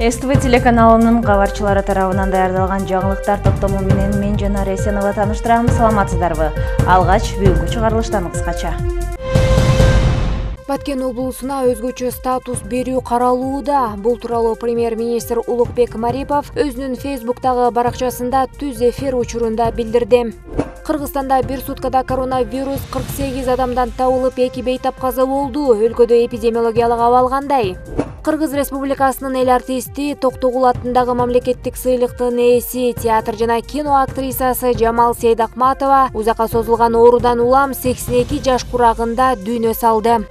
СТВ телеканалынын кабарчылары тарабынан даярдалган жаңылыктар топтому менен мен Жанар Эсенова тааныштырам. Саламатсыздарбы? Алгач бүгүнкү чыгарылыштан кыскача. Баткен облусуна өзгөчө статус берүү каралууда. Бул тууралуу премьер-министр Улукбек Марипов өзүнүн Фейсбуктагы баракчасында түз эфир учурунда билдирди. Кыргызстанда бир суткада коронавирус 48 адамдан табылып, 2 бейтап каза болду. Өлкөдө эпидемиологиялык абал кандай? Кыргыз Республикасынын эл артисти Токтогул атындагы мамлекеттик сыйлыктын ээси, театр жана кино актрисасы Жамал Сейдакматова узакка созулган оорудан улам 82 жаш курагында дүйнө салды.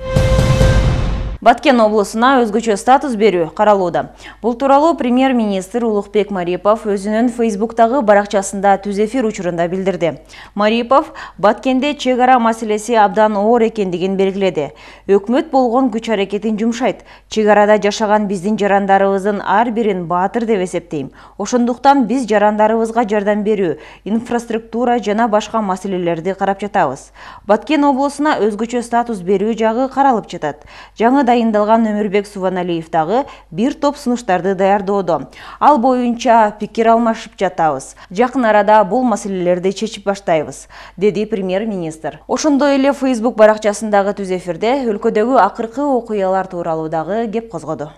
Баткен облусуна өзгөчө статус берүү каралууда. Бул тууралуу премьер-министр Улукбек Марипов өзүнүн Фейсбуктагы баракчасында түз эфир учурунда билдирди. Марипов Баткенде чек ара маселеси абдан оор экендигин белгиледи. Өкмөт болгон күч аракетин жумшайт. Чек арада жашаган биздин жарандарыбыздын ар бирин баатыр деп эсептейм. Ошондуктан биз жарандарыбызга жардам берүү, инфраструктура жана башка маселелерди карап жатабыз. Баткен облусуна өзгөчө статус берүү жагы каралып жатат. Жаңы дайындалган Өмүрбек Субаналиев дагы бир топ сунуштарды даярдоодо. Ал боюнча пикир алмашып жатабыз. Жакын арада бул маселелерди чечип баштайбыз, деди премьер-министр. Ошондой эле Facebook баракчасындагы түз эфирде өлкөдөгү акыркы окуялар тууралуу дагы кеп козгоду.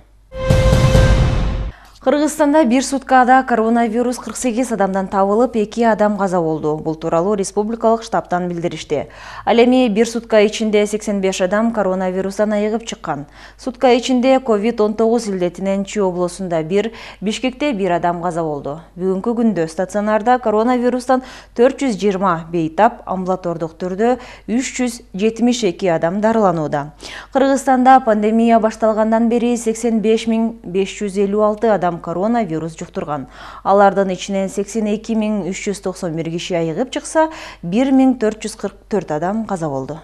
Кыргызстанда бир суткада коронавирус 48 адамдан табылып, 2 адам каза болду. Бул тууралуу республикалык штабтан билдиришти. Ал эми бир сутка ичинде 85 адам коронавирустан айыгып чыккан. Сутка ичинде COVID-19 илдетинен Чүй облусунда 1, Бишкекте 1 адам каза болду. Бүгүнкү күндө стационарда коронавирустан 420 бейтап, амбулатордук түрдө 372 адам дарыланууда. Кыргызстанда пандемия башталгандан бери 85.556 адам коронавирус жуктурган. Алардын ичинен 82.391 киши айыгып чыкса, 1.444 адам каза болду.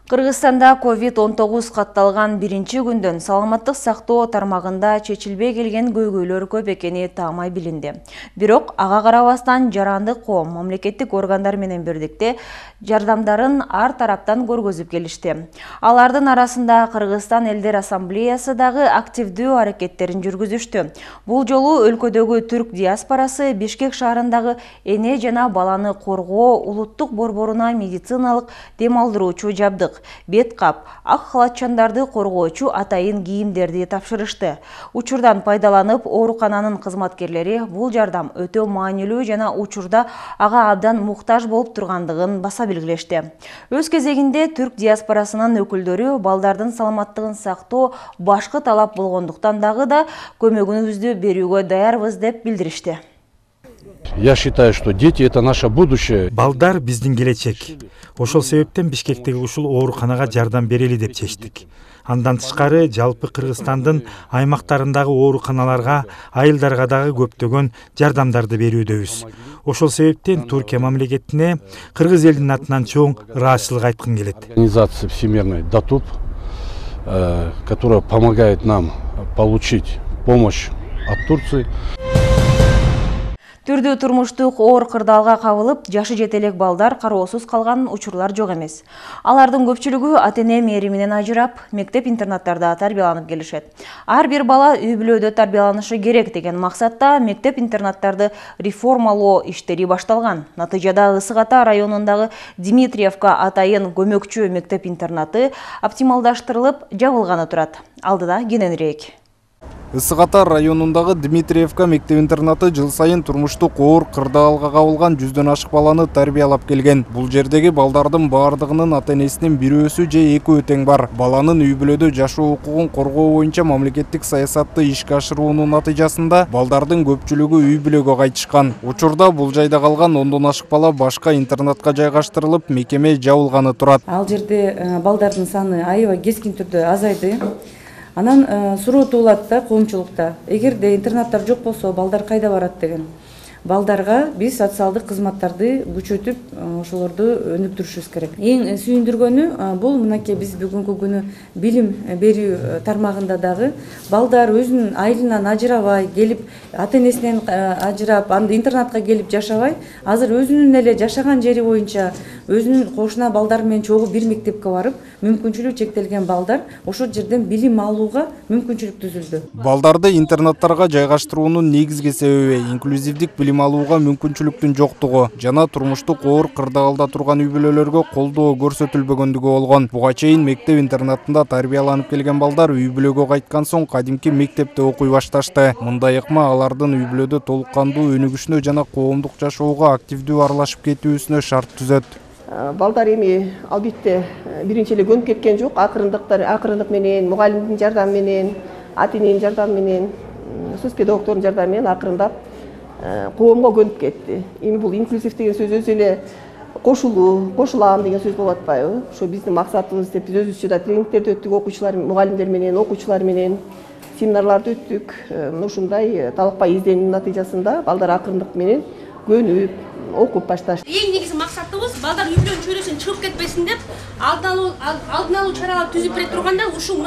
Кыргызстанда COVID-19 катталган биринчи күндөн саламаттык сактоо тармагында чечилбей келген көйгөйлөр көп экени таамай билинди. Бирок ага карабастан жарандык коом мамлекеттик органдар менен бирдикте жардамдарын ар тараптан көргөзүп келишти. Алардын арасында Кыргызстан элдер ассамблеясы дагы активдүү аракеттерин жүргүзүштү. Бул жолу өлкөдөгү түрк диаспорасы Бишкек шаарындагы эне жана баланы коргоо улуттук борборуна медициналык дем алдыруучу жабдык, бет кап, ак халатчандарды коргоочу атайын кийимдерди тапшырышты. Учурдан пайдаланып, оорукананын кызматкерлери бул жардам өтө маанилүү жана учурда ага абдан муктаж болуп тургандыгын баса белгилешти. Өз кезегинде түрк диаспорасынын өкүлдөрү балдардын саламаттыгын сактоо башкы талап болгондуктан дагы да көмөгүбүздү берүүгө даярбыз деп билдиришти. Я считаю, что дети — это наше будущее. Балдар биздин келечек. Ошол себептен Бишкектеги ушул ооруканага жардам берели деп чечтик. Андан тышкары жалпы Кыргызстандын аймактарындагы ооруканаларга, айылдарга дагы көптөгөн жардамдарды берүүдөбүз. Ошол себептен Туркия мамлекетине кыргыз элдин атынан чоң ыраазычылык айткым келет. Организация всемирная ДАТУП, которая помогает нам получить помощь от Турции. Түрдүү турмуштук оор кырдаалга кабылып, жашы жетелек балдар кароосуз калган учурлар жок эмес. Алардын көпчүлүгү ата-эне мээриминен ажырап, мектеп-интернаттарда тарбияланып келишет. Ар бир бала үй-бүлөдө тарбияланышы керек деген максатта мектеп-интернаттарды реформалоо иштери башталган. Натыйжада Ысык Ата районундагы Дмитриевка атайын көмөкчү мектеп-интернаты оптималдаштырылып, жабылганы турат. Алдыда кененирээк. Ысык Ата районундагы Дмитриевка мектеп-интернаты жыл сайын турмуштук оор кырдаалга кабылган 100дөн ашык баланы тарбиялап келген. Бул жердеги балдардын баардыгынын ата-энесинин бирөөсү же экөө тең бар. Баланын үй-бүлөдө жашоо укугун коргоо боюнча мамлекеттик саясатты ишке ашыруунун натыйжасында балдардын көпчүлүгү үй-бүлөгө кайтышкан. Учурда бул жайда калган 10дон ашык бала башка интернатка жайгаштырылып, мекеме жабылганы турат. Ал жерде балдардын саны аябай кескин түрдө азайды. Анан суроо туулат да коомчулукта. Эгерде интернаттар жок болсо, балдар кайда барат деген. балдарга биз социалдык кызматтарды күчөтүп ошолорду өнүктүрүшүбүз керек. Эң сүйүндүргөнү бул мынакей биз бүгүнкү күнү билим берүү тармагында дагы балдар өзүнүн айылынан ажырабай келип, ата энесинен ажырап, анда интернатка келип жашабай, азыр өзүнүн эле жашаган жери боюнча өзүнүн кошуна балдар менен чогуу бир мектепке барып, мүмкүнчүлүгү чектелген балдар ошол жерден билим алууга мүмкүнчүлүк түзүлдү. Балдарды интернаттарга жайгаштыруунун негизги себеби инклюзивдик билим алууга мүмкүнчүлүктүн жоктугу жана турмуштук оор кырдаалда турган үй-бүлөлөргө колдоо көрсөтүлбөгөндүгү болгон. Буга чейин мектеп интернатында тарбияланып келген балдар үй-бүлөгө кайткан соң кадимки мектепте окуй башташты. Мындай ыкма алардын үй-бүлөдө толук кандуу өнүгүшүнө жана коомдук жашоого активдүү аралашып кетүүсүнө шарт түзөт. Балдар эми албетте биринчи эле көнүп кеткен жок. Акырындык менен, мугалимдин жардамы менен, ата эненин жардамы менен, сөз педагогдордун жардамы менен акырындап коомго көнүп кетти. Эми бул инклюзив деген сөз өзү эле кошулам деген сөз болуп атпайбы? Ошо биздин максатыбыз деп биз өзүбүзчө да тренингтерди өттүк, окуучулар, мугалимдер менен, окуучулар менен семинарларды өттүк. Ушундай талакпай изденүүнүн натыйжасында балдар акырындык менен көнүп, окуп башташты. Эң негизги максатыбыз балдар үй-бүлөнүн чөйрөсүнөн чыгып кетпесин деп алдын алуу чаралар түзүп бере турганда ушу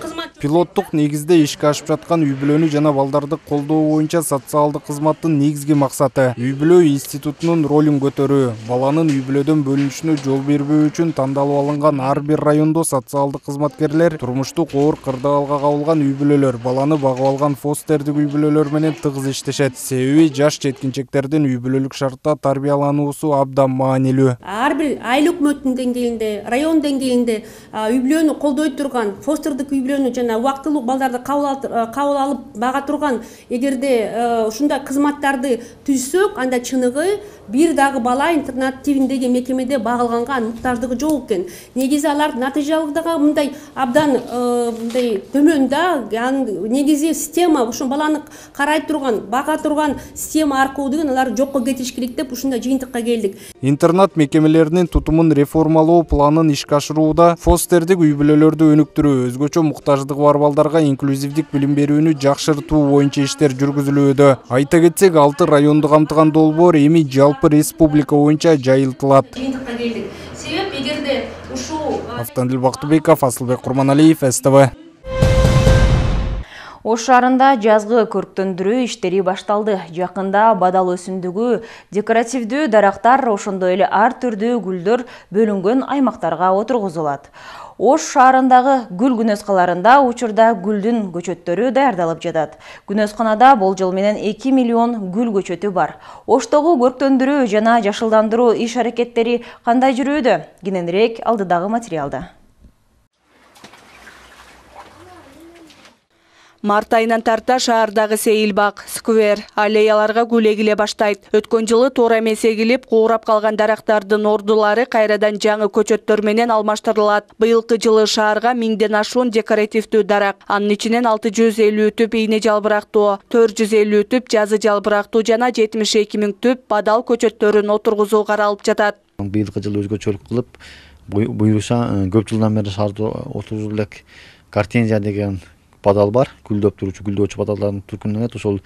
кызмат пилоттук негизде ишке ашып жаткан үй-бүлөнү жана балдарды колдоо боюнча социалдык кызматтын негизги максаты үй-бүлө институтунун ролун көтөрүү. Баланын үй-бүлөдөн бөлүнүшүнө жол бербөө үчүн тандалып алынган ар бир райондо социалдык кызматкерлер турмуштук оор кырдаалга кабылган үй-бүлөлөр, баланы багып алган фостердик үй-бүлөлөр менен тыгыз иштешет. Себеби жаш жеткинчектердин үй-бүлөлүк шартта тарбиялануусу абдан маанилүү. Ар бир айыл өкмөтүнүн деңгээлинде, район деңгээлинде үй-бүлөнү колдой турган, фостердик үй-бүлөнү жана убактылуу балдарды кабыл алып бага турган эгерде ушундай кызматтарды түзсөк, анда чыныгы бир дагы бала интернат тибиндеги мекемеде багылганга муктаждыгы жок экен. Негизи алар натыйжалыгы мындай абдан мындай төмөн да. Негизи система ушул баланы карай турган, бага турган система аркылуу деген алар жокко кетиш керек деп ушундай жыйынтыкка келдик. Интернат мекемелеринин тутумун реформалоо планын ишке ашырууда фостердик үй-бүлөлөрдү өнүктүрүү, өзгөчө муктаждыгы бар балдарга инклюзивдик билим берүүнү жакшыртуу боюнча иштер жүргүзүлүүдө. Айта кетсек, 6 районду камтыган долбоор эми жалпы республика боюнча жайылтылат. Жыйынтыкка келдик. Себеп эгерде ушул Автандил Бактыбеков, Асылбек Курманалиев, СТВ. Ош шаарында жазгы көрктөндүрүү иштери башталды. Жакында бадал өсүмдүгү, декоративдүү дарактар, ошондой эле ар түрдүү гүлдөр бөлүнгөн аймактарга отургузулат. Ош шаарындагы гүл күнөскаларында учурда гүлдүн көчөттөрү даярдалып жатат. Күнөсканада болжол менен 2 миллион гүл көчөтү бар. Оштогу көрктөндүрүү жана жашылдандыруу иш аракеттери кандай жүрүүдө? Кененирээк алдыдагы материалда. Март айынан тарта шаардагы сейилбак, сквер, аллеяларга гүл эгиле баштайт. Өткөн жылы туура эмес эгилип, куурап калган дарактардын ордулары кайрадан жаңы көчөттөр менен алмаштырылат. Быйылкы жылы шаарга 1000ден ашуун декоративдүү дарак, анын ичинен 650 түп ийне жалбырактуу, 450 түп жазы жалбырактуу жана 72 000 түп бадал көчөттөрүн отургузуу каралып жатат. Быйылкы жылы өзгөчөлүк кылып, буюрса көп жылдан бери шаарда отургузулуп элек гортензия деген бадал бар, гүлдөп турчу, гүлдөөчү бадалдардын түркүнөн ошол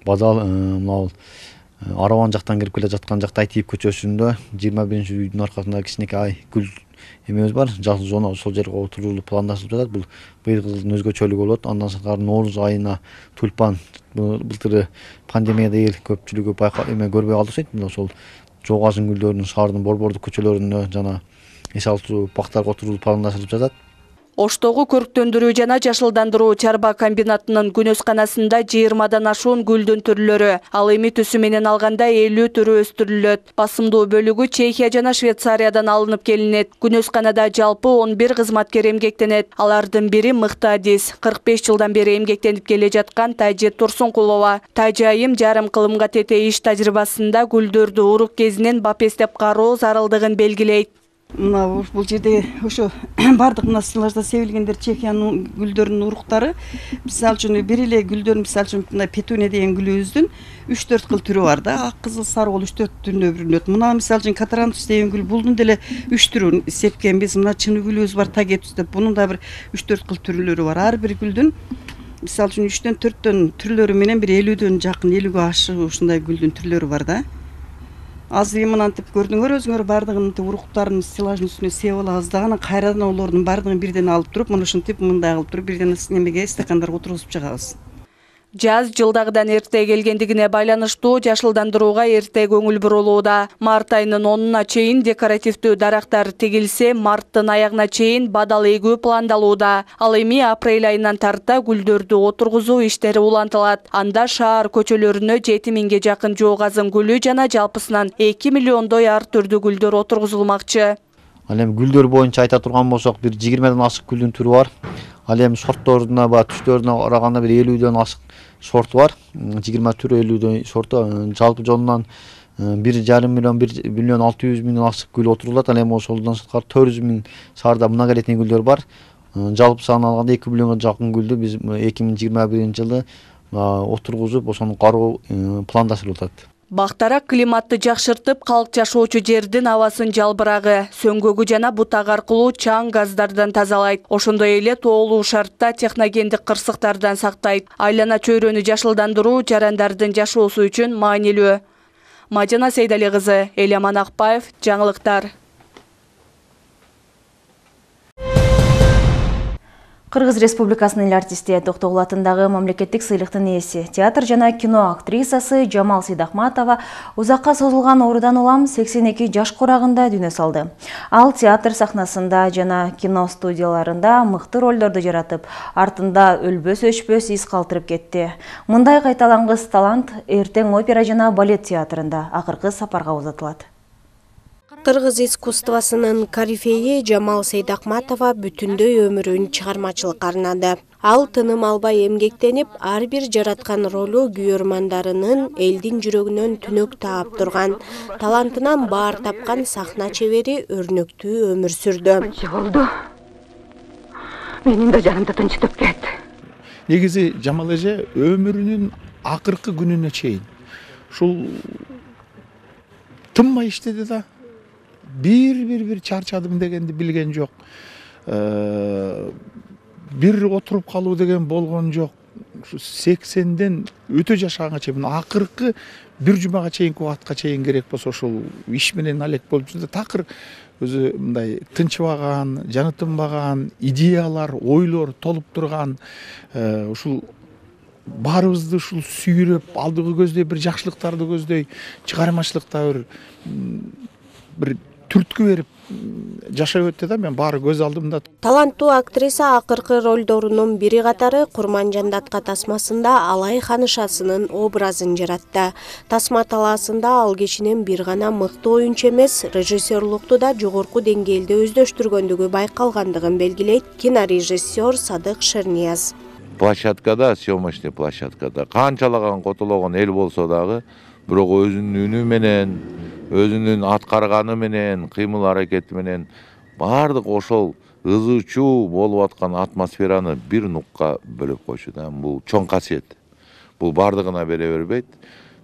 бадал мынау Араван жактан кирип келе жаткан жакта Айтип көчөсүндө 21-үйдүн аркасында кичинекей гүл эмебиз бар. Жакшы зона ошол жерге отурулуп пландашылып жатат. Бул быйылкы жылдын өзгөчөлүгү болот. Андан сырткары Нооруз айына тюльпан былтыры пандемияда эл көпчүлүгү көрбөй калды окшойт. Ошол жогажын гүлдөрүнүн шаардын борбордук көчөлөрүндө жана эс алчу бактарга отурулуп пландашылып жатат. Оштогу көрктөндүрүү жана жашылдандыруу чарба комбинатынын күнөсканасында 20дан ашуун гүлдүн түрлөрү, ал эми түсү менен алганда 50 түрү өстүрүлөт. Басымдуу бөлүгү Чехия жана Швейцариядан алынып келинет. Күнөсканада жалпы 11 кызматкер эмгектенет. Алардын бири мыкты адис, 45 жылдан бери эмгектенип келе жаткан Тайжет Турсункулова. Тайжа айым жарым кылымга тете иш тажрыйбасында гүлдөрдү урук кезинен бапестеп кароо зарылдыгын белгилейт. Мына бул жерде ошо бардык мына стеллажда себилгендер Чехиянын гүлдөрүнүн уруктары. Мисалы үчүн бир эле гүлдөр, мисалы үчүн мына петуния деген гүлүбүздүн 3-4 кыл түрү бар да. Ак, кызыл, сары болуп 3-4 түрүнө бөлүнөт. Мына мисалы үчүн катарантус деген гүл, булдун деле 3 түрүн сепкенбиз. Мына чыны гүлүбүз бар, тагетус деп. Бунун да бир 3-4 кыл түрлөрү бар. Ар бир гүлдүн мисалы үчүн 3-4 түрлөрү менен бир 50дөн жакын 50ге ашык ушундай гүлдүн түрлөрү бар да. Азыр мынантип көрдүңөр өзүңөр бардыгын уруктарын стеллаждын үстүнө себип алабыз да, анан кайрадан олордун бардыгын бирден алып туруп, мына ушинтип мындай кылып туруп бирден немеге стакандарга отургузуп чыгабыз. Жаз жылдагыдан эрте келгендигине байланыштуу жашылдандырууга эрте көңүл бурулууда. Март айынын 10-уна чейин декоративдүү дарактар тегилсе, марттын аягына чейин бадал эгүү пландалууда. Ал эми апрель айынан тарта гүлдөрдү отургузуу иштери улантылат. Анда шаар көчөлөрүнө 7000ге жакын жок азын гүлү жана жалпысынан 2 миллиондой ар түрдүү гүлдөр отургузулмакчы. Ал эми гүлдөр боюнча айта турган болсок, бир 20ден ашык гүлдүн түрү бар. Ал эми сортторуна түстөрүнө караганда бир 50дөн ашык сорту бар. 20 түрү 50дөн сорту. Жалпы жонунан 1,5 миллион 1 миллион 600 миң ашык гүл отурулат. Ал эми ошолдон сырткары 400 миң саарда многолетний гүлдөр бар. Жалпы саны алганда 2 миллионго жакын гүлдү биз 2021-жылы отургузуп, ошону кароо пландаштырылып атат. Бактарак климатты жакшыртып, калк жашоочу жердин абасын жалбырагы, сөңгөгү жана бутак аркылуу чаң газдардан тазалайт. Ошондой эле тоолуу шартта техногендик кырсыктардан сактайт. Айлана чөйрөнү жашылдандыруу жарандардын жашоосу үчүн маанилүү. Мажана Сейдали кызы, Эляман Акбаев, жаңылыктар. Кыргыз Республикасынын эл артисти Токтогул атындагы мамлекеттик сыйлыктын ээси, театр жана кино актрисасы Жамал Сейдахматова узакка созулган оорудан улам 82 жаш курагында дүйнө салды. Ал театр сахнасында жана кино студияларында мыкты ролдорду жаратып, артында өлбөс-өчпөс из калтырып кетти. Мындай кайталангыс талант эртең опера жана балет театрында акыркы сапарга узатылат. Кыргыз искусствосунун корифеи Жамал Сейдахматова бүтүндөй өмүрүн чыгармачылыкка арнады. Ал тыным албай эмгектенип, ар бир жараткан ролу күйөрмандарынын элдин жүрөгүнөн түнөк таап турган, талантынан баар тапкан сахна чебери өрнөктүү өмүр сүрдү. Болду. Менин да жанымды тынчтып кетти. Негизи Жамал эже өмүрүнүн акыркы күнүнө чейин ушул тынбай иштеди да. Bir çarçadım degенди билген жок. Bir отуруп калуу деген болгон жок. 80ден өтө жашаганга чейин, акыркы бир жумага чейинки убакытка чейин керек болсо ошол иш менен алек болуп жүрдү. Такыр өзү мындай тынчыбаган, жаны тынбаган, идеялар, ойлор толуп турган, ушул баарыбызды ушул сүйрөп, алдыгы көздөй бир жакшылыктарды көздөй, чыгармачылыкта бир түрткү берип жашап өттү да, мен баары көз алдымда. Таланттуу актриса акыркы ролдорунун бири катары Курманжан датка тасмасында Алай ханышасынын образын жаратты. Тасма талаасында ал кишинин бир гана мыкты оюнчу эмес, режиссерлукту да жогорку деңгээлде өздөштүргөндүгү байкалгандыгын белгилейт кинорежиссер Садык Шернияз. Площадкада, съемочный площадкада канчалаган котологон эл болсо дагы, бирок өзүнүн үнү менен, өзүнүн аткарганы менен, кыймыл аракети менен баардык ошол ызы чуу болуп аткан атмосфераны бир нукка бөлөп койчу да. Бул чоң касиет. Бул баардыгына бере бербейт.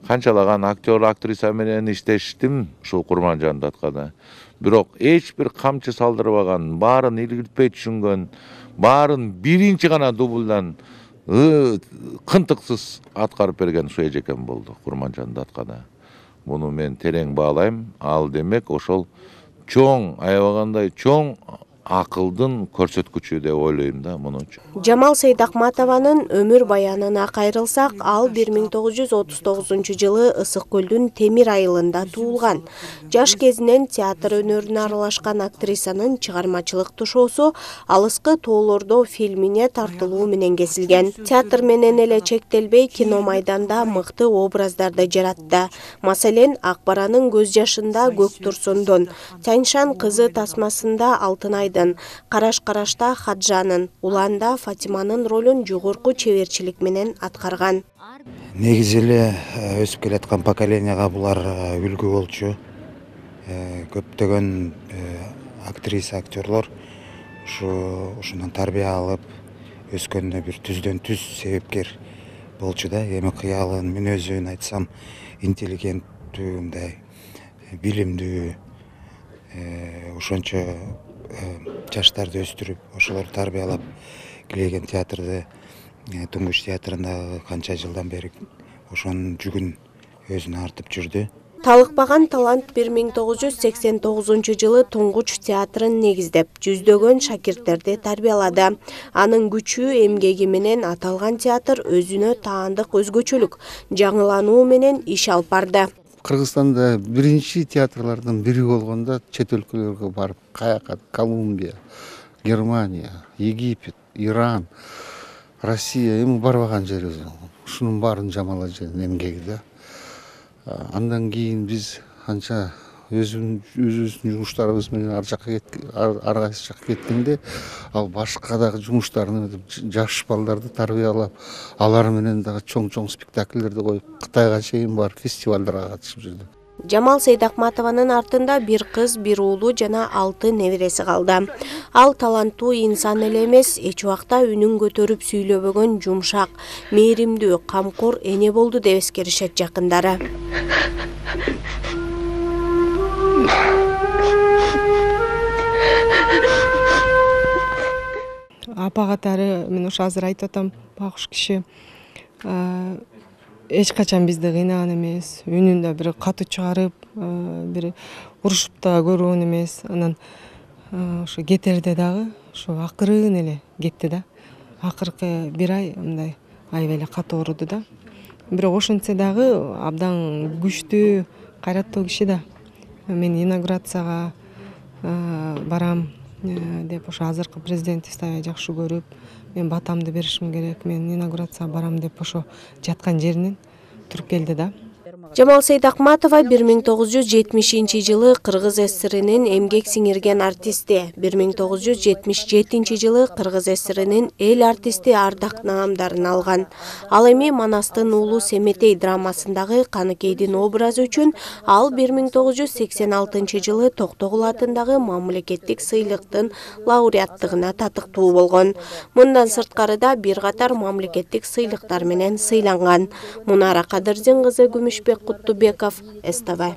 Канчалаган актер, актриса менен иштештим ушул Курманжан даткада. Бирок эч бир камчы салдырбаган, баарын илгиртпей түшүнгөн, баарын биринчи гана дублдан кынтыксыз аткарып берген ушу эжекем болду Курманжан даткада. Буну мен терең баалайм. Ал демек ошол чоң, аябагандай чоң акылдын көрсөткүчү деп ойлойм да муну. Жамал Сейдахматованын өмүр баянына кайрылсак, ал 1939-жылы Ысык көлдүн Темир айылында туулган. Жаш кезинен театр өнөрүнө аралашкан актрисанын чыгармачылык тушоосу Алыскы тоолордо фильмине тартылуу менен кесилген. Театр менен эле чектелбей, кино майданда мыкты образдарды жаратты. Маселен, Акбаранын көз жашында Көк Турсундун, Тяньшан кызы тасмасында Алтынай, Караш-карашта Хаджанын, Уланда Фатиманын ролун жогорку чеберчилик менен аткарган. Негизи эле өсүп келаткан поколенияга булар үлгү болчу. Көптөгөн актриса, актерлор ушундан тарбия алып, өскөндө бир түздөн түз себепкер болчу да. Эми кыялын, мүнөзүн айтсам, интеллигенттүү, мындай билимдүү, ошончо жаштарды өстүрүп, ошолорду тарбиялап келген театрды Туңгуч театрындагы канча жылдан бери ошонун жүгүн өзүнө артып жүрдү. Талыкпаган талант 1989 жылы Туңгуч театрын негиздеп, жүздөгөн шакирттерди тарбиялады. Анын күчү, эмгеги менен аталган театр өзүнө таандык өзгөчөлүк, жаңылануу менен иш алып барды. Кыргызстанда биринчи театрлардын бири болгондо чет өлкөлөргө барып, каяка Колумбия, Германия, Египет, Иран, Россия эми барбаган жерибиз. Ушунун баарын жамалажан эмгеги да. Андан кийин биз анча өзүбүздүн жумуштарыбыз менен ар кайсы жакка кеткенде, ал башка дагы жумуштарны жаш балдарды тарбиялап, алар менен дагы чоң спектакльдерди коюп, Кытайга чейин барып фестивалдарга катышып жүрдү. Жамал Сейдакматованын артында бир кыз, бир уулу жана 6 небереси калды. Ал таланттуу инсан эле эмес, эч убакта үнүн көтөрүп сүйлөбөгөн жумшак, мээримдүү, камкор эне болду деп эскеришет жакындары. Апа катары мен ошо азыр айтып атам, багыш киши эч качан бизди кыйнаган эмес, үнүн да бир катуу чыгарып, бир урушуп да көргөн эмес. Анан ошо кетерде дагы ошо акырын эле кетти да. Акыркы бир ай мындай аябай эле катуу ооруду да. Бирок ошентсе дагы абдан күчтүү, кайраттуу киши да. Мен инаугурацияга барам деп ошо азыркы президентибизди аябай жакшы көрүп, мен батамды беришим керек, мен инаугурацияга барам деп ошо жаткан жеринен туруп келди да. Жамал Сейдакматова 1970 жылы Кыргыз ССРинин эмгек сиңирген артисти, 1977 жылы Кыргыз ССРинин эл артисти ардак наамдарын алган. Ал эми Манастын уулу Семетей драмасындагы Каныкейдин образы үчүн ал 1986 жылы Токтогул атындагы мамлекеттик сыйлыктын лауреаттыгына татыктуу болгон. Мындан сырткары да бир катар мамлекеттик сыйлыктар менен сыйланган. Мунара Кадырдин кызы Күмүшбек Куттубеков, СТВ.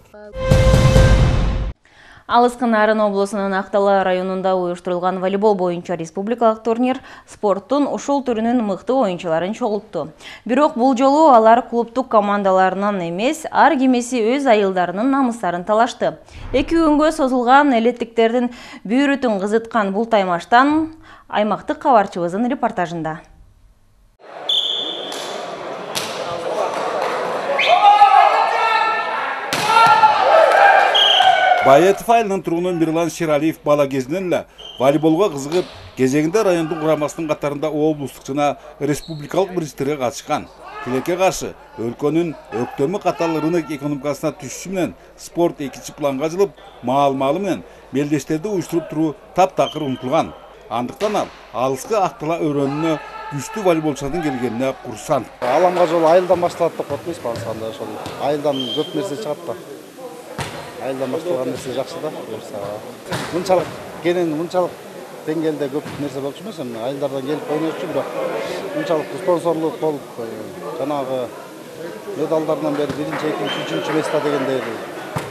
Алыскы Нарын облусунун Актала районунда уюштурулган волейбол боюнча республикалык турнир спорттун ушул түрүнүн мыкты оюнчуларын чогултту. Бирок бул жолу алар клубтук командаларынан эмес, ар кимиси өз айылдарынын намыстарын талашты. 2 күнгө созулган элеттиктердин бүйрүтүн кызыткан бул таймаштан аймактык кабарчыбыздын репортажында. Байетов айылынын тургуну Мирлан Шералиев бала кезинен эле волейболго кызыгып, кезегинде райондун курамасынын катарында облустук жана республикалык бириктерге катышкан. Тилекке каршы өлкөнүн өктөмү катал рынок экономикасына түшүшү менен спорт экинчи планга жылып, маал-маалы менен белдештерди уюштуруп туруу таптакыр унутулган. Андыктан ал алыскы Актала өрөөнүнө күчтүү волейболчулардын келгенине курсант. Аламга жол айылдан башталат деп коет эмеспи анда ошол. Айылдан көп нерсе чыгат да. Айылдан башталган нерсе жакшы да. Мынчалык кенен мынчалык деңгээлде көп нерсе болчу эмес, айылдардан келип ойночу, бирок мынчалык спонсорлук болуп, жанагы медалдардан бери 1-2, 3 место дегендей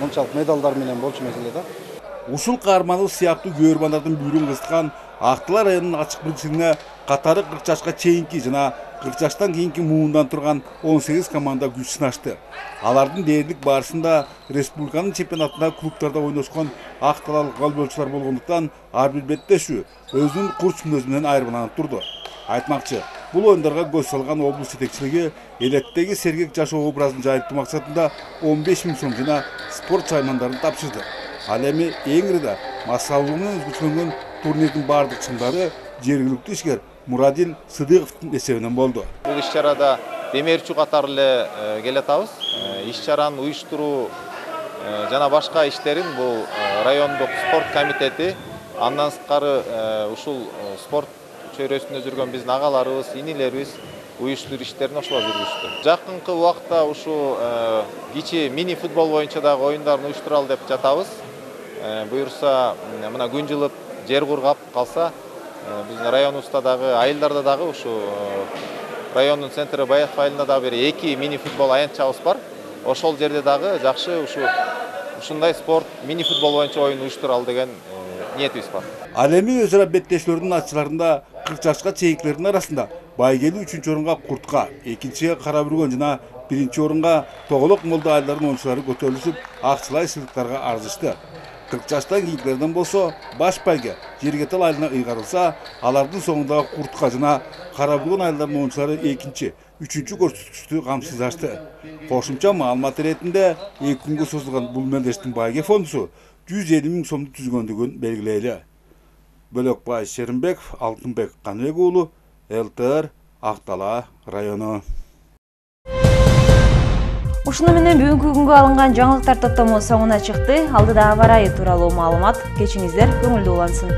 мынчалык медалдар менен болчу эмес эле да. Ушул каармандык сыяктуу көөрмандардын бүйрүн кызыткан Актала районунун ачык бирикчилигине катары 40 жашка чейинки жана 40 жаштан кийинки муундан турган 18 команда күч сынашты. Алардын дээрлик барышында республиканын чемпионатында клубтарда ойношкон акталалык волейболчулар болгондуктан ар бир беттешүү өзүнүн курч мүнөзү менен айырмаланып турду. Айтмакчы, бул оюндарга көз салган облус жетекчилиги элеттеги сергек жаш образын жайылтуу максатында 15 000 сом жана спорт чаймандарын тапшырды. Ал эми эң ири да массалуулугу менен өзгөчөлөнгөн турнирдин бардык чыңдары жергиликтүү ишкер Мурадин Сыдыковдун эсебинен болду. Бул иш-чарада демерчү катары эле келатабыз. Иш-чараны уюштуруу жана башка иштерин бул райондук спорт комитети, андан сырткары ушул спорт чөйрөсүндө жүргөн биздин агаларыбыз, инилерибиз уюштуруу иштерин ошолор жүргүздү. Жакынкы убакта ушу кичи мини футбол боюнча дагы оюндарын уюштуралы деп жатабыз. Буюрса, мына күн жылып, жер кургап калса, биздин районубузда дагы, айылдарда дагы ушу райондун центри Байетов айылында дагы бир 2 мини футбол аянтчабыз бар. Ошол жерде дагы жакшы ушундай спорт мини футбол боюнча оюн уюштуралы деген ниетибиз бар. Ал эми өз ара беттешүүлөрдүн ачыларында 40 жашка чейинкилердин арасында Байгели 3-чү орунга Куртка, 2-чиге Кара Бүргөн жана 1-чи орунга Тоголок Молдо айылдарынын оюнчулары көтөрүлүшүп, акчалай сыйлыктарга арзышты. 40 жаштан кийинкилерден болсо баш байге Жергетал айылына ыйгарылса, алардын соңундагы Куртка жана Кара Бүргөн айылдарынын оюнчулары 2-чи, 3-чү көрсөткүчтү камсыздашты. Кошумча маалымат иретинде 2 күнгө созулган бул мелдештин байге фондусу 150 000 сомду түзгөндүгүн белгилейли. Бөлөкбай Шеримбеков, Алтынбек Каныбек уулу, ЛТР, Ак-Дала району. Ушуну менен бүгүнкү күнгө алынган жаңылыктар топтому соңуна чыкты. Алдыда аба ырайы тууралуу маалымат. Кечиңиздер көңүлдүү улансын.